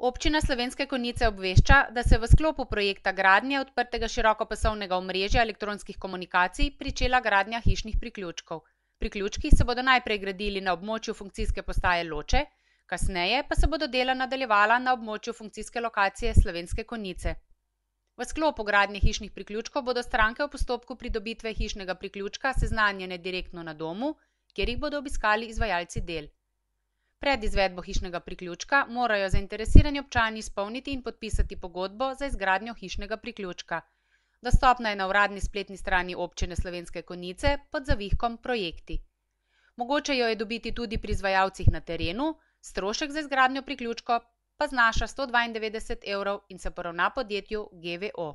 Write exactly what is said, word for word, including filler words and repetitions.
Občina Slovenske Konjice obvešča, da se v sklopu projekta gradnje odprtega širokopasovnega omrežja elektronskih komunikacij pričela gradnja hišnih priključkov. Priključki se bodo najprej gradili na območju funkcijske postaje Loče, kasneje pa se bodo dela nadaljevala na območju funkcijske lokacije Slovenske Konjice. V sklopu gradnje hišnih priključkov bodo stranke v postopku pridobitve hišnega priključka seznanjene direktno na domu, kjer jih bodo obiskali izvajalci del. Pred izvedbo hišnega priključka morajo zainteresirani občani izpolniti in podpisati pogodbo za izgradnjo hišnega priključka. Dostopna je na uradni spletni strani Občine Slovenske Konjice pod zavihkom Projekti. Mogoče jo je dobiti tudi pri izvajalcih na terenu, strošek za izgradnjo priključka pa znaša sto dvaindevetdeset evrov in se poravna podjetju G V O.